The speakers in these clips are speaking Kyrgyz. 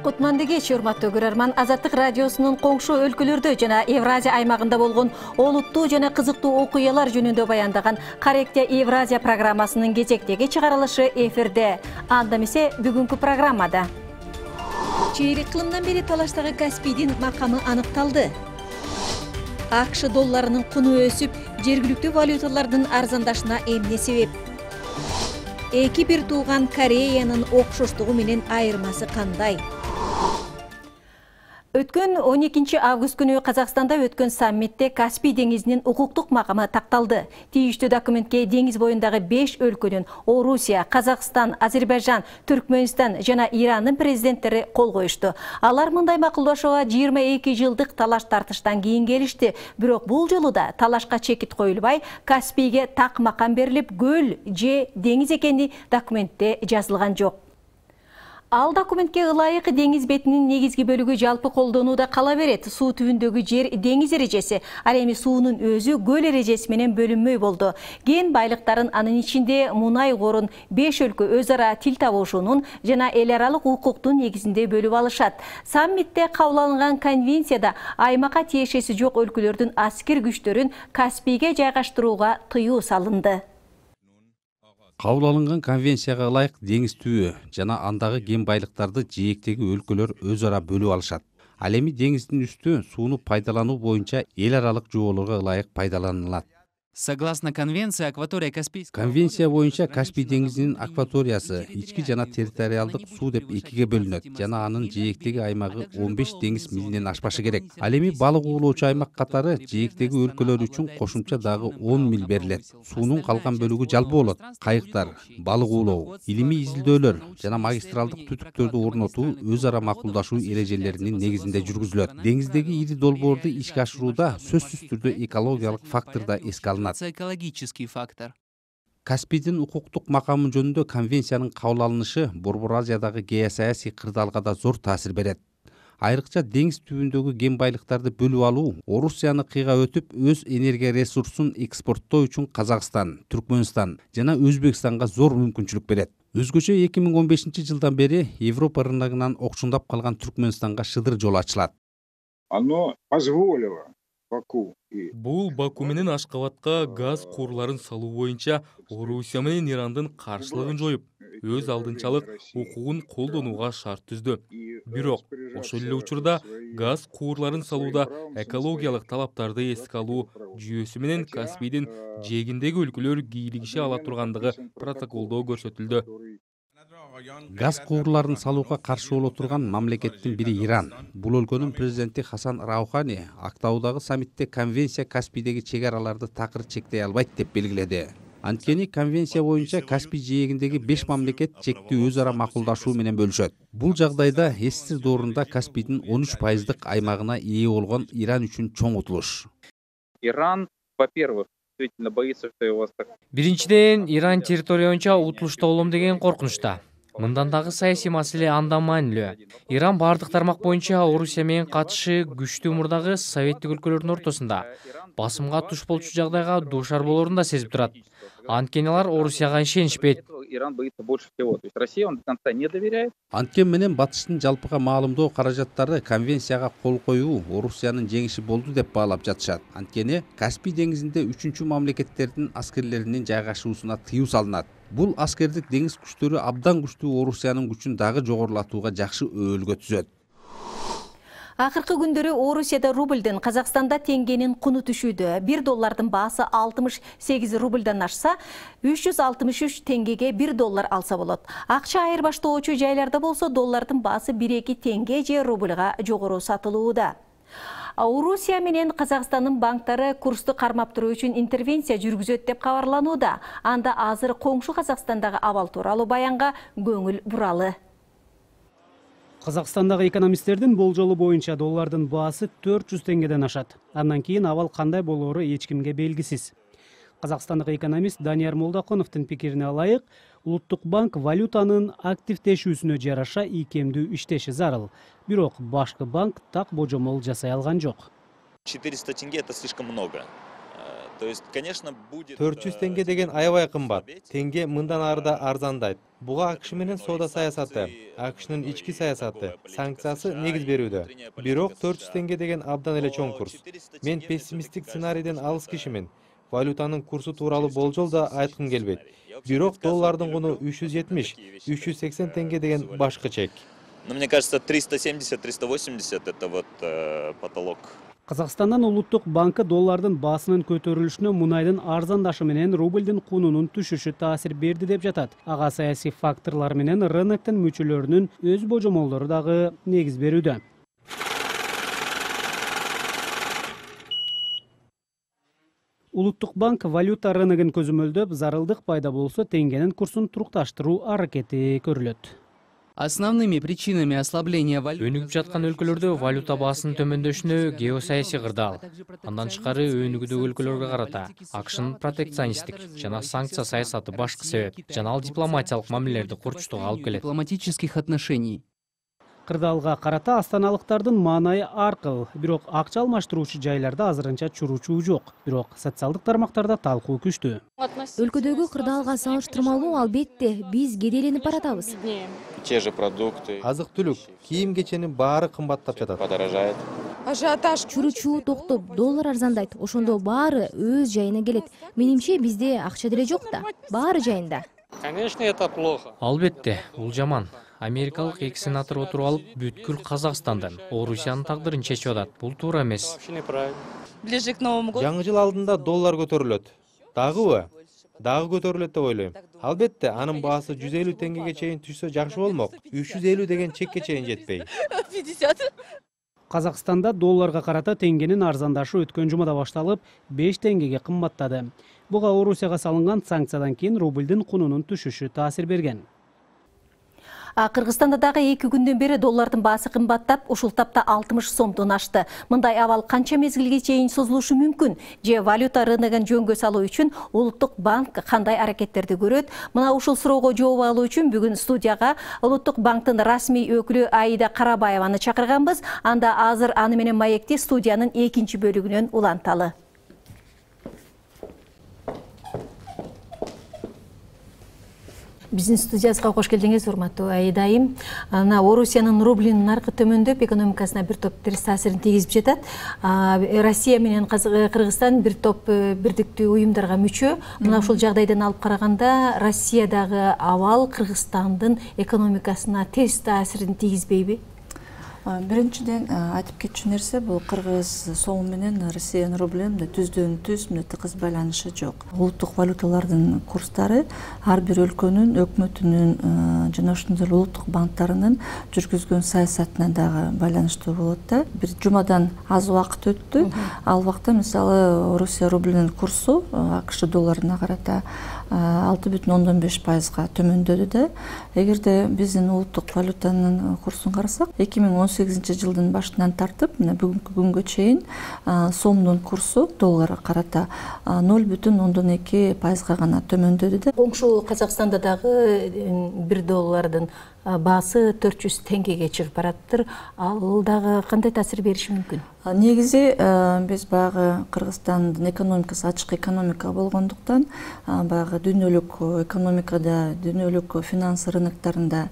Кутманды кеч, урматтуу көрөрман. Азаттык радиосунун коңшу өлкөлөрдө жана Евразия аймагында болгон олуттуу жана кызыктуу окуялар жөнүндө баяндаган Корректия Евразия программасынын кезектеги чыгарылышы эфирде. Анда эмесе бүгүнкү программада чейрек кылымдан бери талаштагы Каспийдин макамы аныкталды. АКШ долларынын куну өсүп, жергиликтүү валюталардын арзандашына эмне себеп? Эки бир тууган Кореянын окшоштугу менен айырмасы кандай? Өткөн 12 август күнү Казакстанда өткөн саммитте Каспий деңизинин укуктук макамы такталды. Тийиштүү документке деңиз боюндагы 5 өлкөнүн Орусия, Казакстан, Азербайжан, Түркмөнстан жана Ирандын президенттери кол коюшту. Алар мындай макулдашууга 22 жылдык талаш тартыштан кийин келишти. Бирок бул жолу да талашка чекит коюлбай, Каспийге так макам берилип, көл же деңиз экени документте жазылган жок. Ал документке ылайык деңиз бетинин негизги бөлүгү жалпы колдонууда кала берет. Суу түбүндөгү жер деңиз эрежеси, ал эми суунун өзү көл эрежеси менен бөлүнмөй болду. Кен байлыктарын, анын ичинде мунай корун 5 өлкө өз ара тил табышуунун жана эл аралык укуктун негизинде бөлүп алышат. Саммитте кабыл алынган конвенцияда аймакка тиешеси жок өлкөлөрдүн аскер күчтөрүн Каспийге жайгаштырууга тыюу салынды. Кабыл алынган конвенцияга ылайык деңиз түбү жана андагы кен байлыктарды жээктеги өлкөлөр өз ара бөлүп алышат. Ал эми деңиздин үстү сууну пайдалануу боюнча эл аралык жоболорго ылайык пайдаланылат. Согласно конвенции, акватория Каспийского... Конвенция боюнча Каспий деңизинин акваториясы ички жана территориалдык суу деп экиге бөлүнөт жана анын жээктеги аймагы 15 деңиз милинен ашпашы керек. Ал эми балык уулоочу аймак катары жээктеги өлкөлөр үчүн кошумча дагы 10 миль берилет. Суунун калган бөлүгү жалпы болот. Кайыктар, балык уулоо, илимий изилдөөлөр жана магистралдык түтүктөрдү орнотуу өз ара макулдашуу эрежелеринин негизинде жүргүзүлөт. Деңиздеги ири долбоорду ишке ашырууда сөзсүз түрдө экологиялык фактор да эске алынат. Экологический фактор. Каспийдин укуктук макамы жөнүндө конвенциянын кабыл алынышы Борбор Азиядагы геосаясий кырдаалга да зор таасир берет. Айрыкча деңиз түбүндөгү кен байлыктарды бөлүп алуу Орусияны кыйга өтүп, өз энергия ресурсун экспорттоо үчүн Казакстан, Түркмөнстан жана Өзбекстанга зор мүмкүнчүлүк берет. Өзгөчө 2015 жылдан бери Европа рыногунан окшундап калган Түркмөнстанга шыдыр жол ачылат. Оно позволило Бул Баку менен Ашкабадка газ куурларын салуу боюнча Орусия менен Ирандын каршылыгын жоюп, өз алдынчалык укугун колдонууга шарт түздү. Бирок ошол эле учурда газ куурларын салууда экологиялык талаптарды эске алуу жүйөсү менен Каспийдин жээгиндеги өлкөлөр кийлигише ала тургандыгы протоколдо көрсөтүлдү. Газ куурларын салууга каршы боло турган мамлекеттин бири Иран. Бул өлкөнүн президенти Хасан Раухани Актаудагы саммитте конвенция Каспийдеги чек араларды такыр чектей албайт деп белгиледи. Анткени конвенция боюнча Каспий жээгиндеги 5 мамлекет чекти өз ара макулдашуу менен бөлүшөт. Бул жагдайда СССР доорунда Каспийдин 13% аймагына ээ болгон Иран үчүн чоң утулуш. Иран, во-первых, боится, что его... Биринчиден, Иран территория боюнча утулушта болом деген коркунучта. Мындан дагы саясий маселе андан маанилүү. Иран бардык тармак боюнча Орусия менен катышы күчтүү мурдагы советтик өлкөлөрдүн ортосунда басымга туш болчу жагдайга дуушар болорун да сезип турат. Анткени алар Орусияга ишенишпейт. Иран боится больше всего. То есть Россия он до конца не доверяет. Анткени менен батыштын жалпыга маалымдоо каражаттары конвенцияга кол коюу Орусиянын жеңиши болду деп баалап жатышат. Анткени Каспий деңизинде 3-чү мамлекеттердин аскерлеринин жайгашуусуна тыюу салынат. Бул аскердик деңиз күчтөрү абдан күчтүү Орусиянын күчүн дагы жогорулатууга жакшы өбөлгө түзөт. Акыркы күндөрү Орусияда рубльден, Казакстанда теңгенин куну түшүүдө. 1 доллардын баасы 68 рубльдан ашса, 363 теңгеге 1 доллар алса болот. Акча айырбаштоочу жайларда болсо доллардын баасы 1-2 теңге же рубльга жогору сатылууда. Орусия менен Казакстандын банктары курсту кармап туруу үчүн интервенция жүргүзөт деп кабарланууда. Анда азыр коңшу Казакстандагы абал тууралуу баянга көңүл буралы. Казакстандагы экономисттердин болжолу боюнча доллардын баасы 400 теңгеден ашат. Андан кийин абал кандай болоору эч кимге белгисиз. Казакстандык экономист Данияр Молдокуновдун пикирине ылайык, Улуттук банк валютанын активдешүүсүнө жараша ийкемдүү иштеши зарыл. Бирок башкы банк так божомол жасай алган жок. 400 тенге это слишком много. 400 теңге деген аябай кымбат. Теңге мындан арыда арзандайт. Буга АКШ менен соода саясаты, АКШнын ички саясаты, санкциясы негиз берүүдө. Бирок 400 теңге деген абдан эле чоң курс. Мен пессимисттик сценарийден алыс кишимин. Валютанын курсу тууралуу болжол да айткым келбейт. Бирок доллардын куну 370-380 теңге деген башкы чек. Но мне кажется, 370-380 это вот потолок. Казакстандан Улуттук банкы доллардын баасынын көтөрүлүшүнө мунайдын арзандашы менен рублдин кунунун түшүшү таасир берди деп жатат. Ага саясий факторлор менен рыноктун мүчөлөрүнүн өз божомолдору дагы негиз берүүдө. Улуттук банк валюта рыногун көзөмөлдөп, зарылдык пайда болсо теңгенин курсун турукташтыруу аракети көрүлөт. Основными причинами ослабления валюты өнүгүп жаткан өлкөлөрдө валюта баасынын төмөндөшүнө геосаясий кырдаал, андан тышкары өнүгүүдөгү өлкөлөргө карата АКШнын протекционисттик жана санкция саясаты башкы себеп. Жана ал дипломатиялык мамилелерди курчтоого алып келет. Дипломатических отношений. Кырдаалга карата астаналыктардын маанайы аркыл, бирок акча алмаштыруучу жайларда азырынча чуручуу жок. Бирок социалдык тармактарда талкуу күчтүү. Өлкөдөгү кырдаалга салыштырмалуу албетте биз кедейленип баратабыз. Те же продукты. Азык-түлүк, кийим-кеченин баары кымбаттап жатат. Подорожает. Ажиотаж чуручуу токтоп, доллар арзандайт. Ошондо баары өз жайына келет. Менимче бизде акча деле жок да. Баары жайында. Конечно, это плохо. Албетте, бул жаман. Америкалык эки сенатор отуруп алып, бүткүл Казакстандын, Орусиянын тагдырын чечип атат. Бул туура эмес. Ближе к Новому году. Жаңы жыл алдында доллар көтөрүлөт. Дагыбы? Дагы көтөрүлөт деп ойлойм. Албетте, анын баасы 150 теңгеге чейин түшсө жакшы болмок. 350 деген чекке чейин жетпей. 50. Казакстанда долларга карата теңгенин арзандашы өткөн жумада башталып, 5 теңгеге кымбаттады. Буга Орусияга салынган санкциядан кийин рублдин кунунун түшүшү таасир берген. Кыргызстанда дагы 2 күндөн бери доллардын баасы кымбаттап, ушул тапта 60 сомдон ашты. Мындай абал канча мезгилге чейин созулушу мүмкүн? Же валюта рыногун жөнгө салуу үчүн Улуттук банк кандай аракеттерди көрөт? Мына ушул суроого жооп алуу үчүн бүгүн студияга Улуттук банктын расмий өкүлү Аида Карабаеваны чакырганбыз. Анда азыр аны менен маекти студиянын 2-чи бөлүгүнөн уланталы. Биздин студиябызга кош келдиңиз, урматтуу Аида айым. Орусиянын рублинин наркы төмөндөп, экономикасына бир топ терс таасирин тийгизип жатат. Россия менен Кыргызстан бир топ бирдиктүү уюмдарга мүчө. Мына ушул жагдайдан алып караганда, Россиядагы абал Кыргызстандын экономикасына терс таасирин тийгизбейби? Биринчиден айтып кетчү нерсе бул кыргыз сом менен Россиянын рублинин түздөн түз тыгыз байланышы жок. Улуттук валюталардын курстары ар бир өлкөнүн өкмөтүнүн жана ошондой эле улуттук банктарынын жүргүзгөн саясатына дагы байланыштуу болот да. Бир жумадан аз убакыт өттү. Ал убакта мисалы Орусия рублинин курсу АКШ долларына карата 6,5%га төмөндөдү да. Эгерде биздин улуттук валютанын курсун карасак, 2018 жылдын башынан тартып, бүгүнкү күнгө чейин сомдун курсу долларга карата 0,2%га гана төмөндөдү да. Коңшу Казакстанда дагы 1 доллардын баасы 400 теңгеге чыгып бараттыр. Ал дагы кандай таасир бериши мүмкүн? Негизи биз баягы Кыргызстандын экономикасы ачык экономика болгондуктан баягы дүйнөлүк экономикада, дүйнөлүк финанс рыноктарында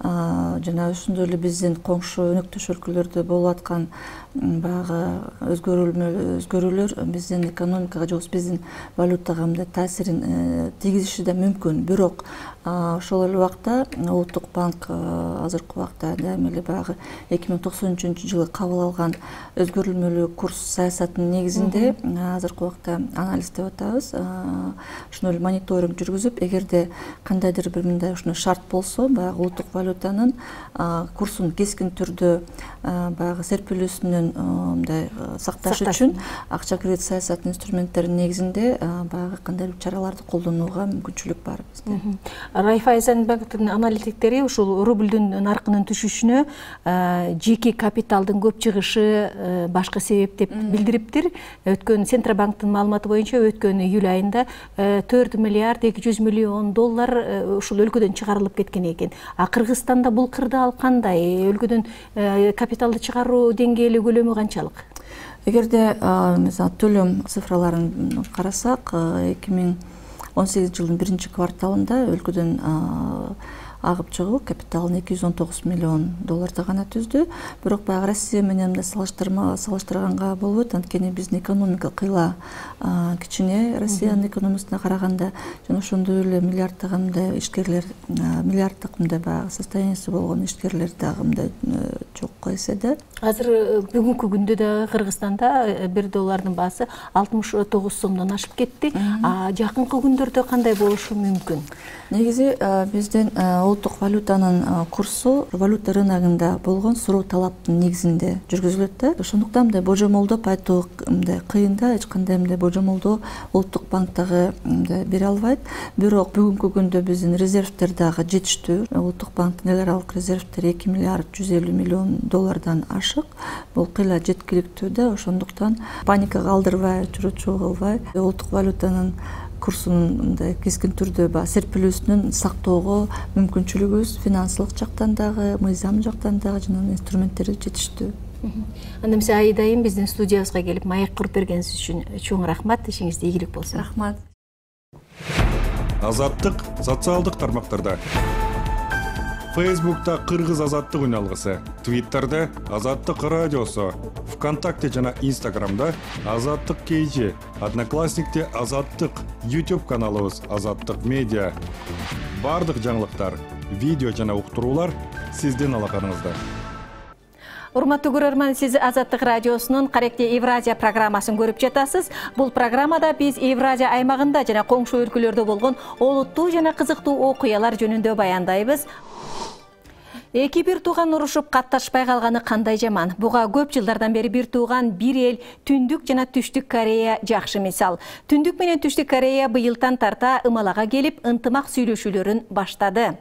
жана ошондой эле биздин коңшу өнөктөш өлкөлөрдө болуп аткан баягы өзгөрүүлөр биздин экономикага же биздин валютага мындай таасирин тийгизиши да мүмкүн. Бирок ошол эле убакта Улуттук банк азыркы убакта дайыма эле баягы 2093-жылы кабыл алган өзгөрүлмөлүү курс саясатынын негизинде азыркы убакта анализ деп атабыз. Ошондой эле мониторинг жүргүзүп, эгерде кандайдыр бир мындай ушундай шарт болсо, баягы улуттук валютанын курсун кескин түрдө баягы серпилүүсүнөн мындай сакташ үчүн акча кредит саясатынын инструменттеринин негизинде баягы кандайдыр чараларды колдонууга мүмкүнчүлүк бар бизде. Райфайзенбанктын аналитиктери ушул рублдун наркынын түшүшүнө жеке капиталдын көп чыгышы башкы себеп деп билдириптир. Өткөн Центробанктын маалыматы боюнча өткөн июль айында 4 миллиард 200 миллион доллар ушул өлкөдөн чыгарылып кеткен экен. Кыргызстанда бул кырдаал кандай? Өлкөдөн капиталды чыгаруу деңгээли көлөмү канчалык? Эгерде мисалы төлөм цифраларын карасак, 2018 жылдын 1-кварталында өлкөдөн агып чыгуу капиталын $219 миллион гана түздү. Бирок баягы Россия менен салыштырганга болбойт, анткени биздин экономика кыйла кичине Россиянын экономикасына караганда, жана ошондой эле миллиарддагы мындай ишкерлер, миллиарддык мындай баягы состояниясы болгон ишкерлер дагы мындай жок эседе. Азыр бүгүнкү күндө да Кыргызстанда $1 баасы 69 сомдон ашып кетти. Жакынкы күндөрдө кандай болушу мүмкүн? Негизи биздин улуттук валютанын курсу валюта рыногунда болгон суроо талаптын негизинде жүргүзүлөт да. Ошондуктан мындай божомолдоп айтуу мындай кыйын да, эч кандай мындай божомолдоо улуттук банк дагы бере албайт. Бирок бүгүнкү күндө биздин резервдер дагы жетиштүү. Улуттук банктын эл аралык резервдери $2 миллиард 150 миллион ашык. Бул кыйла жеткиликтүү да. Ошондуктан паникага алдырбай, чуручуу кылбай, улуттук валютанын курсунун мындай кескин түрдө серпилүүсүнөн сактоого мүмкүнчүлүгүбүз финансылык жактан дагы, мыйзам жактан дагы жана инструменттери жетиштүү. Анда эмесе айдайым биздин студиябызга келип маек куруп бергениңиз үчүн чоң рахмат. Ишиңизде ийгилик болсун. Рахмат. Азаттык социалдык тармактарда. Фейсбукта Кыргыз азаттык үналгысы, Твиттерде Азаттык радиосу, ВКонтакте жана Инстаграмда Азаттык KG, Одноклассникте Азаттык, YouTube каналыбыз Азаттык медиа. Бардык жаңылыктар, видео жана уктуруулар сиздин алаканыңызда. Урматтуу көрөрман, сиз Азаттык радиосунун Каректе Евразия программасын көрүп жатасыз. Бул программада биз Евразия аймагында жана коңшу өлкөлөрдө болгон олуттуу жана кызыктуу окуялар жөнүндө баяндайбыз. Эки бир тууган урушуп катташпай калганы кандай жаман. Буга көп жылдардан бери бир тууган бир эл Түндүк жана Түштүк Корея жакшы мисал. Түндүк менен Түштүк Корея быйылдан тарта ымалага келип, ынтымак сүйлөшүүлөрүн баштады.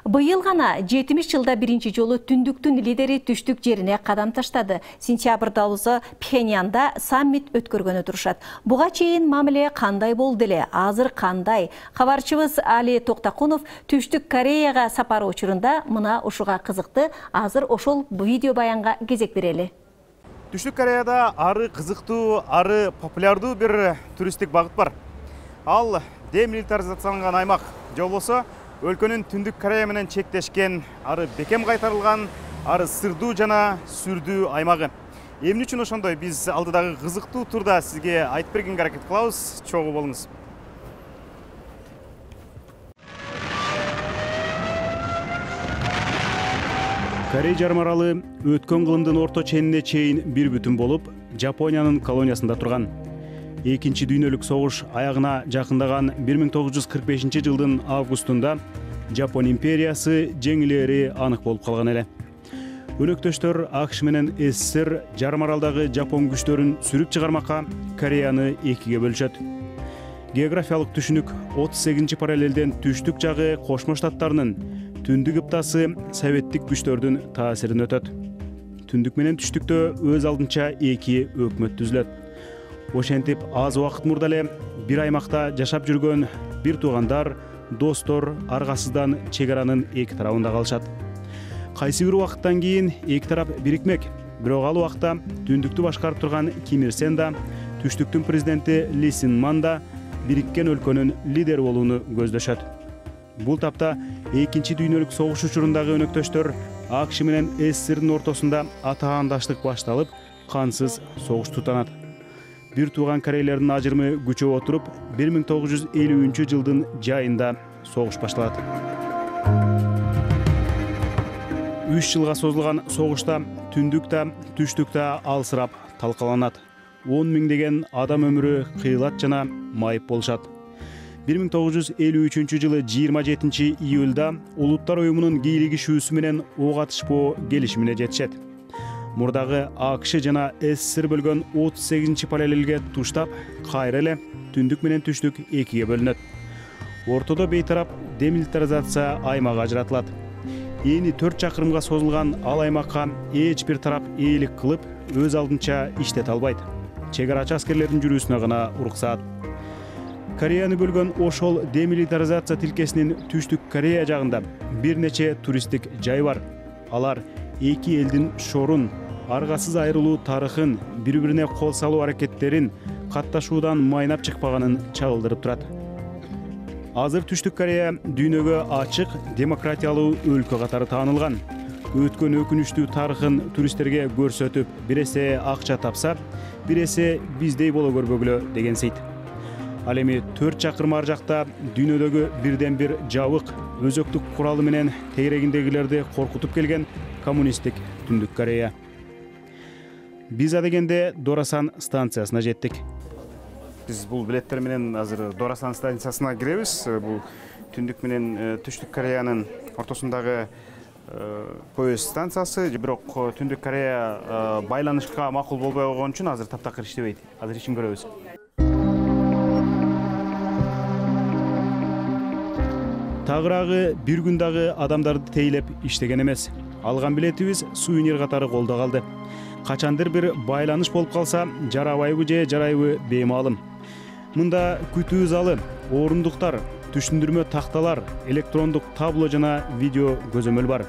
Быйыл гана 70 жылда биринчи жолу Түндүктүн лидери Түштүк жерине кадам таштады. Сентябрда болсо Пхеньянда саммит өткөргөнү турушат. Буга чейин мамиле кандай болду эле, азыр кандай? Кабарчыбыз Али Токтакунов Түштүк Кореяга сапары учурунда мына ушуга кызыкты. Азыр ошол видео баянга кезек берели. Түштүк Кореяда ары кызыктуу, ары популярдуу бир туристтик багыт бар. Ал демилитаризацияланган аймак, же болбосо өлкөнүн Түндүк Корея менен чектешкен, ары бекем кайтарылган, ары сырдуу жана сүрдүү аймагы. Эмне үчүн ошондой? Биз алдыдагы кызыктуу турда сизге айтып бергенге аракет кылабыз. Чогуу болуңуз. Корей жарым аралы өткөн кылымдын орто ченине чейин бир бүтүн болуп, Жапониянын колониясында турган. Экинчи дүйнөлүк согуш аягына жакындаган 1945 жылдын августунда Жапон империясы жеңилери анык болуп калган эле. Өнөктөштөр АКШ менен СССР жарым аралдагы Жапон күчтөрүн сүрүп чыгармакка Кореяны экиге бөлүшөт. Географиялык түшүнүк 38 параллелден түштүк жагы Кошмо Штаттарынын, түндүк ыптасы советтик күчтөрдүн таасирин өтөт. Түндүк менен түштүктө өз алдынча эки өкмөт түзүлөт. Ошентип аз убакыт мурда эле бир аймакта жашап жүргөн бир туугандар, достор аргасыздан чек аранын эки тарабында калышат. Кайсы бир убакыттан кийин эки тарап бирикмек. Бирок ал убакта түндүктү башкарып турган Ким Ир Сен да, түштүктүн президенти Ли Син Ман да бириккен өлкөнүн лидери болууну көздөшөт. Бул тапта экинчи дүйнөлүк согуш учурундагы өнөктөштөр АКШ менен СССРдин ортосунда атаандаштык башталып, кансыз согуш тутанат. Бир тууган корейлердин ажырымы күчөп отуруп, 1953 жылдын жайында согуш башталат. 3 жылга созулган согушта түндүк да, түштүк да алсырап талкаланат. 10 миңдеген адам өмүрү кыйылат жана майып болушат. 1953 жылы 27 июлда Улуттар уюмунун кийлигишүүсү менен ок атышпоо келишимине жетишет. Мурдагы АКШ жана СССР бөлгөн 38 параллелге туштап, кайра эле түндүк менен түштүк экиге бөлүнөт. Ортодо бейтарап демилитаризация аймагы ажыратылат. Эни 4 чакырымга созулган ал аймакка эч бир тарап ээлик кылып, өз алдынча иштете албайт. Чек арачы аскерлердин жүрүүсүнө гана уруксаат. Кореяны бөлгөн ошол демилитаризация тилкесинин Түштүк Корея жагында бир нече туристтик жай бар. Алар эки элдин шорун, аргасыз айрылуу тарыхын, бири-бирине кол салуу аракеттерин, катташуудан майнап чыкпаганын чагылдырып турат. Азыр Түштүк Корея дүйнөгө ачык, демократиялуу өлкө катары таанылган. Өткөн өкүнүчтүү тарыхын туристтерге көрсөтүп, бир эсе акча тапса, бир эсе биздей боло көрбөгүлө деген сейт. Ал эми 4 чакырым ар жакта дүйнөдөгү бирден бир жабык, өзөктүк куралы менен тегерегиндегилерди коркутуп келген коммунисттик Түндүк Корея. Биз адегенде Дорасан станциясына жеттик. Биз бул билеттер менен азыр Дорасан станциясына киребиз. Бул Түндүк менен Түштүк Кореянын ортосундагы поезд станциясы. Бирок Түндүк Корея байланышка макул болбой койгон үчүн азыр таптакыр иштебейт. Азыр ишин көрөбүз. Тагыраагы бир күн дагы адамдарды тейлеп иштеген эмес. Алган билетибиз сувенир катары колдо калды. Качандыр бир байланыш болуп калса, жарабайбы же жарайбы беймаалым. Мында күтүү залы, орундуктар, түшүндүрмө такталар, электрондук табло жана видео көзөмөл бар.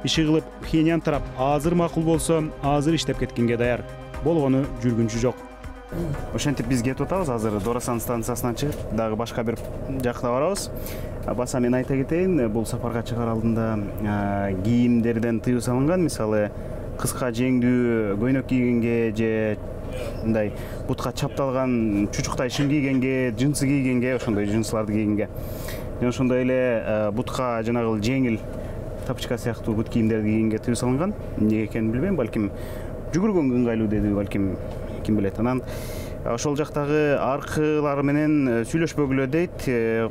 Иши кылып Пхеньян тарап азыр макул болсо, азыр иштеп кеткенге даяр. Болгону жүргүнчү жок. Ошентип биз кетип атабыз. Азыр Дорасан станциясынан чыгып, дагы башка бир жакка барабыз. Баса мен айта кетейин, бул сапарга чыгаар алдында кийимдерден тыюу салынган. Мисалы, кыска жеңдүү көйнөк кийгенге же мындай бутка чапталган чучуктай шим кийгенге, джинсы кийгенге, ошондой джинсыларды кийгенге. Жана ошондой эле бутка жанагы жеңил тапочка сыяктуу бут кийимдерди кийгенге тыюу салынган. Эмне экенин билбейм, балким жүгүргөнгө ыңгайлуу деди, балким ким билет. Анан ошол жактагы аркылар менен сүйлөшпөгүлө дейт,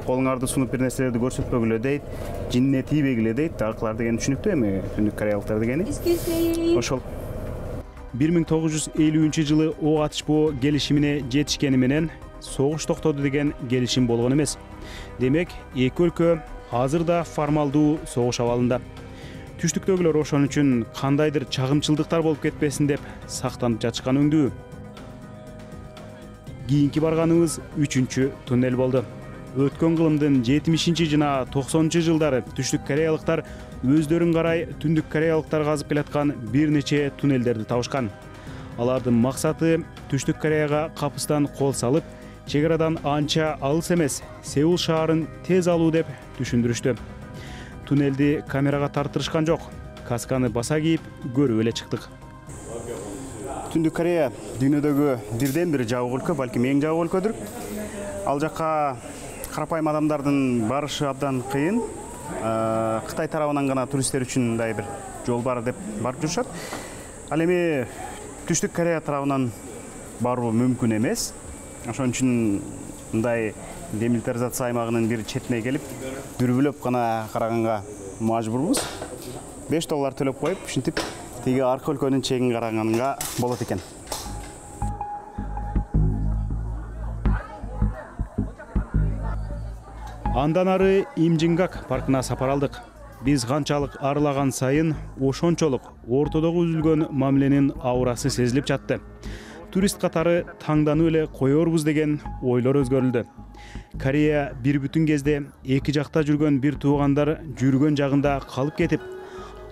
колуңарды сунуп бир нерселерди көрсөтпөгүлө дейт, жинине тийбегиле дейт. Аркылар деген түшүнүктүү эми Түндүк Кореялыктар дегени. Ошол 1950-жылы ок атышпоо келишимине жетишкени менен согуш токтоду деген келишим болгон эмес. Демек, эки өлкө азыр да формалдуу согуш абалында. Түштүктөгүлөр ошон үчүн кандайдыр чагымчылдыктар болуп кетпесин деп сактанып жатышкан өңдүү. Кийинки барганыбыз 3-чү туннель болду. Өткөн кылымдын 70 жана 90 жылдары Түштүк Кореялыктар өздөрүн карай Түндүк Кореялыктар казып келаткан бир нече туннелдерди табышкан. Алардын максаты Түштүк Кореяга капыстан кол салып, чек арадан анча алыс эмес Сеул шаарын тез алуу деп түшүндүрүштү. Туннелди камерага тартырышкан жок. Касканы баса кийип көрүп эле чыктык. Түндүк Корея дүйнөдөгү бирден бир жабык өлкө, балким эң жабык өлкөдүр. Ал жакка карапайым адамдардын барышы абдан кыйын. Кытай тарабынан гана туристтер үчүн мындай бир жол бар деп барып жүрүшат. Ал эми Түштүк Корея тарабынан баруу мүмкүн эмес. Ошон үчүн мындай демилитаризация аймагынын бир четине келип, дүрбүлөп гана караганга мажбурбуз. $5 төлөп коюп, ушинтип тиги арка өлкөнүн чегин караганга болот экен. Андан ары Имжингак паркына сапар алдык. Биз канчалык арылаган сайын ошончолук ортодогу үзүлгөн мамиленин аурасы сезилип жатты. Турист катары таңданып эле коербуз деген ойлор өзгөрүлдү. Корея бир бүтүн кезде эки жакта жүргөн бир туугандар жүргөн жагында калып кетип,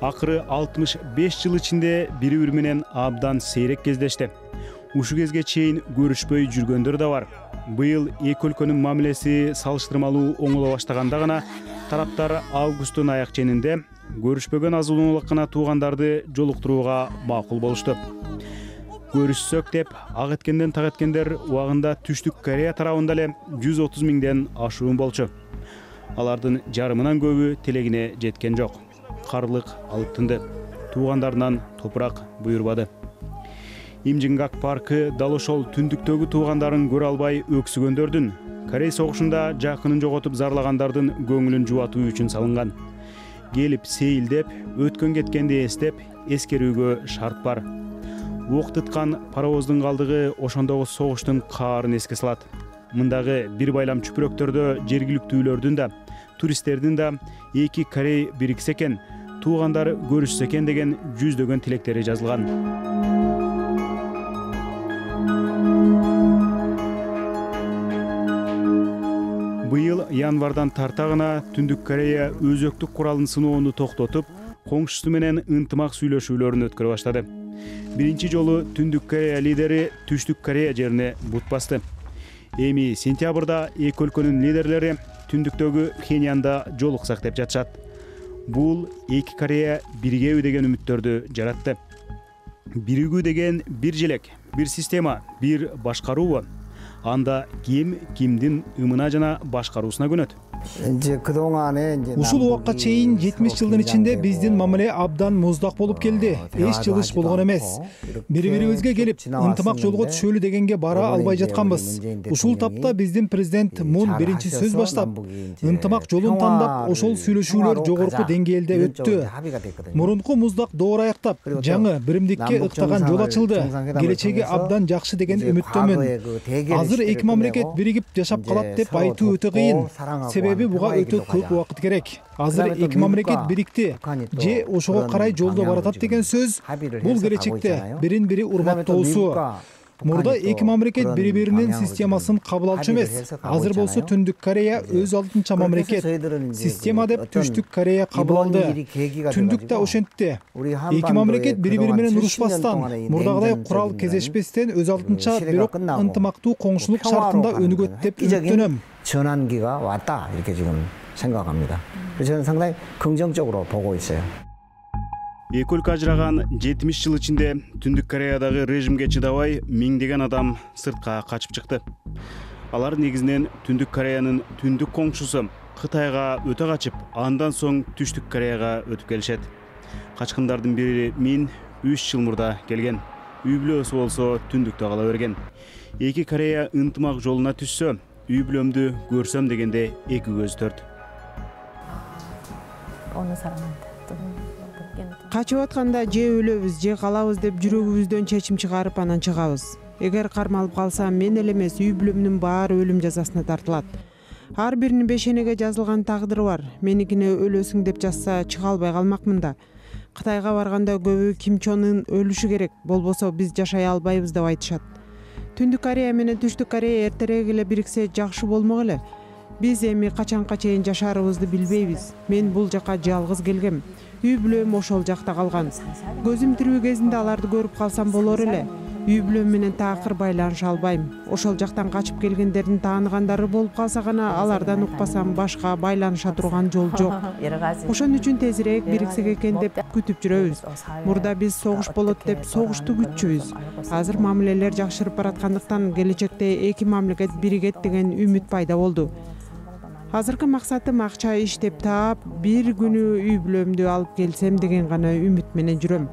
акыры 65 жыл ичинде бири-бири менен абдан сейрек кездешти. Ушу кезге чейин көрүшпөй жүргөндөр да бар. Быйыл эки өлкөнүн мамилеси салыштырмалуу оңоло баштаганда гана тараптар августтун аяк ченинде көрүшпөгөн азулуулук гана туугандарды жолуктурууга макул болушту. Көрүшсөк деп ак эткенден так эткендер убагында Түштүк Корея тарабында эле 130 миңден ашуун болчу. Алардын жарымынан көбү тилегине жеткен жок. Карлык алып тынды. Туугандарынан топурак буйрбады. Имжингак паркы дал ошол түндүктөгү туугандарын көрө албай өксүгөндөрдүн, Корей согушунда жакынын жоготуп зарлагандардын көңүлүн жубатуу үчүн салынган. Келип сейилдеп, өткөн кеткенди эстеп, эскерүүгө шарт бар. Ок тыткан паровоздун калдыгы ошондогу согуштун каарын эске салат. Мындагы бир байлам чүпүрөктөрдө жергиликтүүлөрдүн да, туристтердин да эки Корей бириксе экен, туугандар көрүшсө экен деген жүздөгөн тилектери жазылган. Быйыл январдан тарта гана Түндүк Корея өзөктүк куралын сыноону токтотуп, коңшусу менен ынтымак сүйлөшүүлөрүн өткөрө баштады. биринчи жолу Түндүк Корея лидери Түштүк Корея жерине бут басты. Эми сентябрда эки өлкөнүн лидерлери түндүктөгү Пхеньянда жолуксак деп жатышат. Бул эки Корея биригеби деген үмүттөрдү жаратты. Биригүү деген бир желек, бир система, бир башкаруубу? Анда ким кимдин ымына жана башкаруусуна көнөт? Ушул убакка чейин 70 жылдын ичинде биздин мамиле абдан муздак болуп келди. Эч жылыш болгон эмес. Бири-бирибизге келип, ынтымак жолго түшөлү дегенге бара албай жатканбыз. Ушул тапта биздин президент Мун биринчи сөз баштап, ынтымак жолун тандап, ошол сүйлөшүүлөр жогорку деңгээлде өттү. Мурунку муздак доор аяктап, жаңы биримдикке ыктаган жол ачылды. Келечеги абдан жакшы деген үмүттөмүн. Азыр эки мамлекет биригип жашап калат деп айтуу өтө кыйын. Себеби буга өтө көп убакыт керек. Азыр эки мамлекет бирикти же ошого карай жолдо баратат деген сөз бул келечекте бирин-бири урматтоосу. Мурда эки мамлекет бири-биринин системасын кабыл алчу эмес. Азыр болсо Түндүк Корея өз алдынча мамлекет. Система деп Түштүк Корея кабыл алды. Түндүк да ошентти. Эки мамлекет бири-бири менен урушпастан, мурдагыдай курал кезешпестен өз алдынча бирок ынтымактуу коңшулук шартында өнүгөт деп үмүттөнөм. 전환기가 왔다 이렇게 지금 생각합니다. 그래서 저는 상당히 긍정적으로 보고 있어요. Эки өлкө ажыраган 70 жыл ичинде Түндүк Кореядагы режимге чыдабай миңдеген адам сыртка качып чыкты. Алар негизинен Түндүк Кореянын түндүк коңшусу Кытайга өтө качып, андан соң Түштүк Кореяга өтүп келишет. Качкындардын бири мен 3 жыл мурда келген. Үй бүлөсү болсо Түндүктө кала берген. Эки Корея ынтымак жолуна түшсө, үй бүлөмдү көрсөм дегенде эки көз төрт. Качып атканда же өлөбүз, же калабыз деп жүрөгүбүздөн чечим чыгарып анан чыгабыз. Эгер кармалып калсам, мен эле эмес, үй бүлөмдүн баары өлүм жазасына тартылат. Ар биринин бешенеге жазылган тагдыры бар. Меникине өлөсүң деп жазса, чыга албай калмакмын да. Кытайга барганда көбү Ким Чон Ын өлүшү керек, болбосо биз жашай албайбыз деп айтышат. Түндүк Корея менен Түштүк Корея эртерээк эле бириксе жакшы болмок эле. Биз эми качанга чейин жашаарыбызды билбейбиз. Мен бул жака жалгыз келгем. Үй бүлөм ошол жакта калган. Көзүм тирүү кезинде аларды көрүп калсам болор эле. Үй бүлөм менен такыр байланыша албайм. Ошол жактан качып келгендердин тааныгандары болуп калса гана алардан укпасам башка байланыша турган жол жок. Ошон үчүн тезирээк бириксек экен деп күтүп жүрөбүз. Мурда биз согуш болот деп согушту күтчүбүз. Азыр мамилелер жакшырып бараткандыктан келечекте эки мамлекет биригет деген үмүт пайда болду. Азыркы максатым акча иштеп таап, бир күнү үй бүлөмдү алып келсем деген гана үмүт менен жүрөм.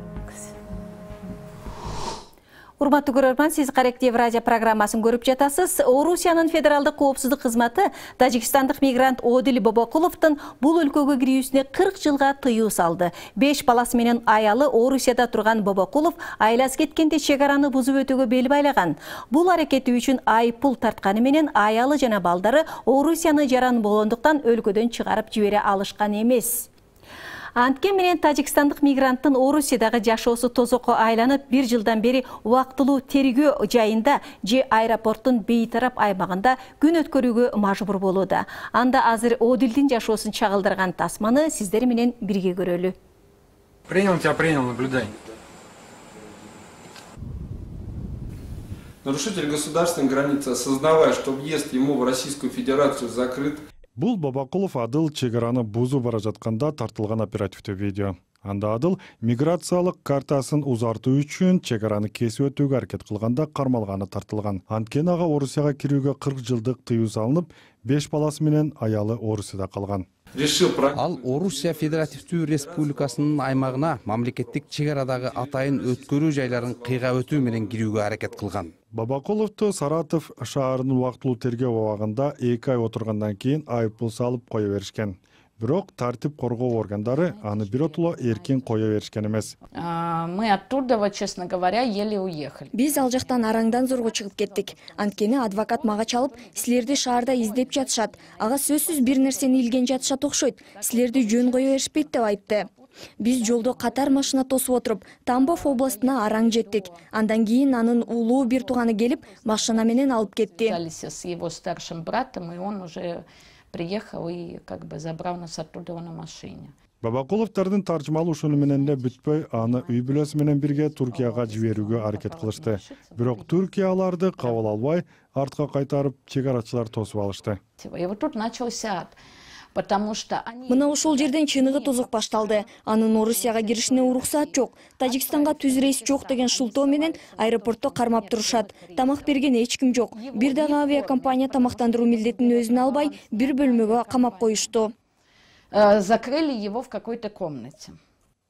Урматтуу көрөрман, сиз Каректев радио программасын көрүп жатасыз. Орусиянын федералдык коопсуздук кызматы тажикстандык мигрант Одил Бобокуловдун бул өлкөгө кирүүсүнө 40 жылга тыюу салды. 5 баласы менен аялы Орусияда турган Бобокулов айласы кеткенде чек араны бузуп өтүүгө бел байлаган. Бул аракети үчүн айыппул тартканы менен аялы жана балдары Орусияны жаран болгондуктан өлкөдөн чыгарып жибере алышкан эмес. Анткен менен тажикстандык мигранттын Орусиядагы жашоосу тозокко айланып, 1 жылдан бери убактылуу тергөө жайында же аэропорттун бейтарап аймагында күн өткөрүүгө мажбур болууда. Анда азыр Одилдин жашоосун чагылдырган тасманы сиздер менен бирге көрөлү. Принял тебя, наблюдай. Нарушитель государственной границы, осознавая, что въезд ему в Российскую Федерацию закрыт. Бул Бобокулов Адыл чек араны бузуп бара жатканда тартылган оперативдүү видео. Анда Адыл миграциялык картасын узартуу үчүн чек араны кесип өтүүгө аракет кылганда кармалганы тартылган. Анткени ага Орусияга кирүүгө 40 жылдык тыюу салынып, 5 баласы менен аялы Орусияда калган. Ал Орусия Федеративдүү Республикасынын аймагына мамлекеттик чек арадагы атайын өткөрүү жайларын кыйга өтүү менен кирүүгө аракет кылган. Бобокуловду Саратов шаарынын убактылуу тергөө абагында 2 ай отургандан кийин айыппул салып кое беришкен. Бирок тартип коргоо органдары аны биротоло эркин кое беришкен эмес. Мы оттуда, честно говоря, еле уехали. Биз ал жактан араңдан зорго чыгып кеттик. Анткени адвокат мага чалып, силерди шаарда издеп жатышат. Ага сөзсүз бир нерсени илген жатышат окшойт. Силерди жөн кое беришпейт деп айтты. Биз жолдо катар машина тосуп отуруп, Тамбов областына араң жеттик. Андан кийин анын улуу бир тууганы келип, машина менен алып кетти. С его старшим братом, и он уже приехал и как бы забрал нас оттуда на машине. Бабакуловдордун таржымалы ушуну менен эле бүтпөй, аны үй бүлөсү менен бирге Туркияга жиберүүгө аракет кылышты. Бирок Туркия аларды кабыл албай, артка кайтарып, чек арачылар тосуп алышты. Мына ошол жерден чыныгы тозок башталды. Анын Орусияга киришине уруксаат жок. Тажикстанга түз рейс жок деген шылтоо менен аэропортто кармап турушат. Тамак берген эч ким жок. Бир дагы авиакомпания тамактандыруу милдетин өзүнө албай, бир бөлмөгө камап коюшту. Закрыли его в какой-то комнате.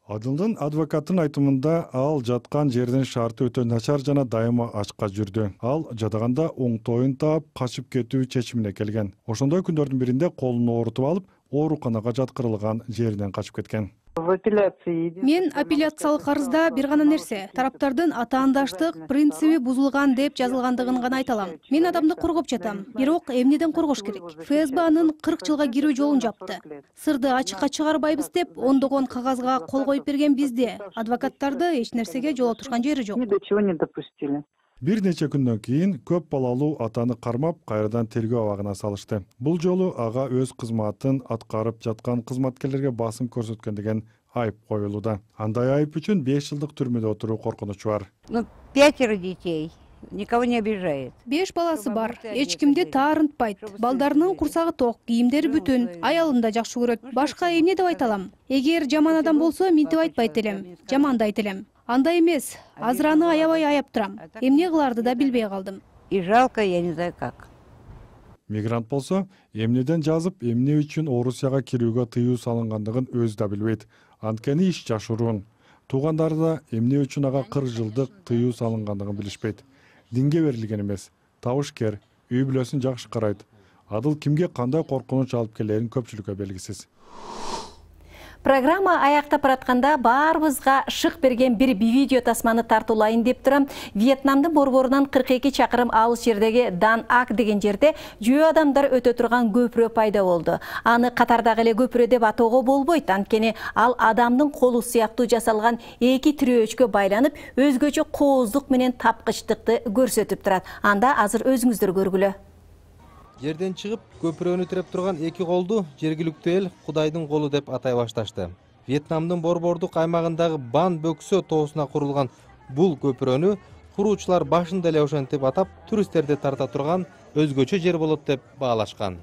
Адылдын адвокаттын айтымында ал жаткан жердин шарты өтө начар жана дайыма ачка жүрдү. Ал жадаганда оңтойун таап, качып кетүү чечимине келген. Ошондой күндөрдүн биринде колун оорутуп алып, ооруканага жаткырылган жеринен качып кеткен. Мен апелляциялык арызда бир гана нерсе, тараптардын атаандаштык принциби бузулган деп жазылгандыгын гана айта алам. Мен адамды коргоп жатам, бирок эмнеден коргош керек? ФСБ анын 40 жылга кирүү жолун жапты. Сырды ачыкка чыгарбайбыз деп ондогон кагазга кол коюп берген бизде. Адвокаттарды эч нерсеге жол отурушкан жери жок. Бир нече күндөн кийин көп балалуу атаны кармап, кайрадан тергөө абагына салышты. Бул жолу ага өз кызматын аткарып жаткан кызматкерлерге басым көрсөткөн деген айып коюлууда. Андай айып үчүн 5 жылдык түрмөдө отуруу коркунучу бар. 5 детей. Никого не обижает. 5 баласы бар. Эч кимди таарынтпайт. Балдарынын курсагы ток, кийимдери бүтүн, аялын да жакшы көрөт. Башка эмне деп айта алам? Эгер жаман адам болсо, минтип айтпайт элем. Жаман да айт элем. Андай эмес. Азыр аны аябай аяп турам. Эмне кыларды да билбей калдым. И жалко, я не знаю как. Мигрант болсо, эмнеден жазып, эмне үчүн Орусияга кирүүгө тыюу салынгандыгын өзү да билбейт. Анткени иш жашыруун. Туугандары да эмне үчүн ага 40 жылдык тыюу салынгандыгын билишпейт. Динге берилген эмес, табышкер, үй бүлөсүн жакшы карайт. Адыл кимге кандай коркунуч алып келерин көпчүлүккө белгисиз. Программа аяктап баратканда баарыбызга шык берген бир видео тасманы тартуулайын деп турам. Вьетнамдын борборунан 42 чакырым алыс жердеги Дан Ак деген жерде жөө адамдар өтө турган көпүрө пайда болду. Аны катардагы эле көпүрө деп атоого болбойт, анткени ал адамдын колу сыяктуу жасалган эки тирөөчкө байланып, өзгөчө кооздук менен тапкычтыкты көрсөтүп турат. Анда азыр өзүңүздөр көргүлө. Жерден чыгып, көпүрөнү тиреп турган эки колду жергиликтүү эл Кудайдын колу деп атай башташты. Вьетнамдын борбордук аймагындагы Бан Бөксө тоосуна курулган бул көпүрөнү куруучулар башында эле ошентип атап, туристтерди тарта турган өзгөчө жер болот деп баалашкан.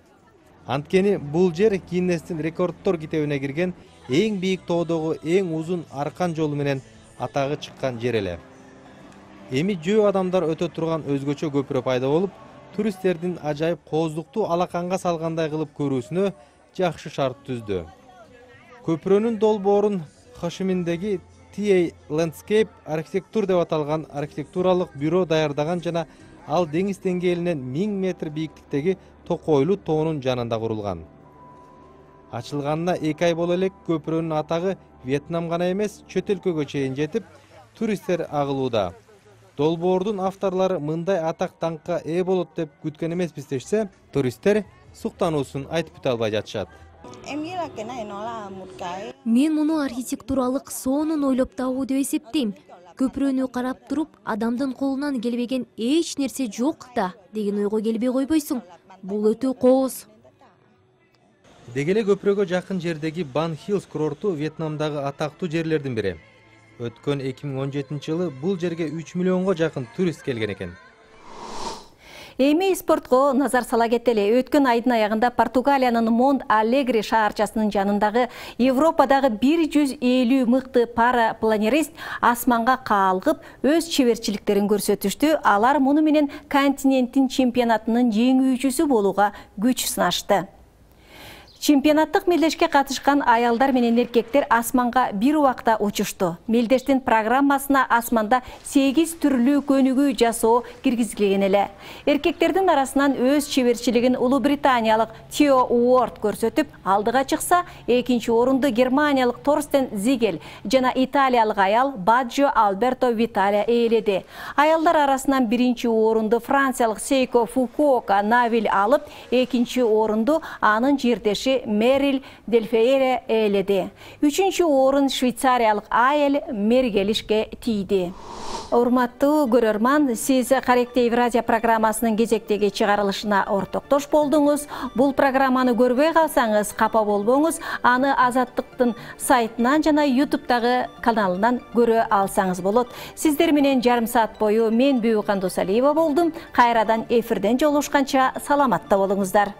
Анткени бул жер Гиннестин рекордтор китебине кирген эң бийик тоодогу эң узун аркан жолу менен атагы чыккан жер эле. Эми жөө адамдар өтө турган өзгөчө көпүрө пайда болуп, туристтердин ажайып кооздуктуу алаканга салгандай кылып көрүүсүнө жакшы шарт түздү. Көпүрөнүн долбоорун Хошиминдеги TA Landscape архитектур деп аталган архитектуралык бюро даярдаган жана ал деңиз деңгээлинен 1000 метр бийиктиктеги токойлуу тоонун жанында курулган. Ачылганына 2 ай боло элек көпүрөнүн атагы Вьетнам гана эмес, чөт өлкөгө чейин жетип, туристтер агылууда. Долбоордун авторлору мындай атак даңкка ээ болот деп күткөн эмеспиз дешсе, туристтер суктануусун айтып бүтө албай жатышат. Мен муну архитектуралык соонун ойлоп табуу деп эсептейм. Көпүрөнү карап туруп, адамдын колунан келбеген эч нерсе жок да деген ойго келбей койбойсуң. Бул өтө кооз. Деги эле көпүрөгө жакын жердеги Бан Хиллс курорту Вьетнамдагы атактуу жерлердин бири. Өткөн 2017 жылы бул жерге 3 миллионго жакын турист келген экен. Эми спортко назар сала кетели. Өткөн айдын аягында Португалиянын Монт Алегри шаарчасынын жанындагы Европадагы 150 мыкты парапланерист асманга каалгып, өз чеберчиликтерин көрсөтүштү. Алар муну менен континенттин чемпионатынын жеңүүчүсү болууга күч сынашты. Чемпионаттык мелдешке катышкан аялдар менен эркектер асманга бир убакта учушту. Мелдештин программасына асманда 8 түрлүү көнүгүү жасоо киргизилген эле. Эркектердин арасынан өз чеберчилигин Улуу Британиялык Тео Уорд көрсөтүп, алдыга чыкса, экинчи орунду Германиялык Торстен Зигел жана италиялык аял Баджо Альберто Виталия ээледи. Аялдар арасынан биринчи орунду франциялык Сейко Фукуока Навиль алып, экинчи орунду анын жердеши киши Мерил Дельфейре ээледи. 3-чү орун швейцариялык айыл Мергелишке тийди. Урматтуу көрөрман, сиз Каректе Евразия программасынын кезектеги чыгарылышына ортоктош болдуңуз. Бул программаны көрбөй калсаңыз, капа болбоңуз. Аны Азаттыктын сайтынан жана YouTube'дагы каналынан көрө алсаңыз болот. Сиздер менен жарым саат бою мен Бүйүкан Досалиева болдум. Кайрадан эфирден жолугушканча саламатта болуңуздар.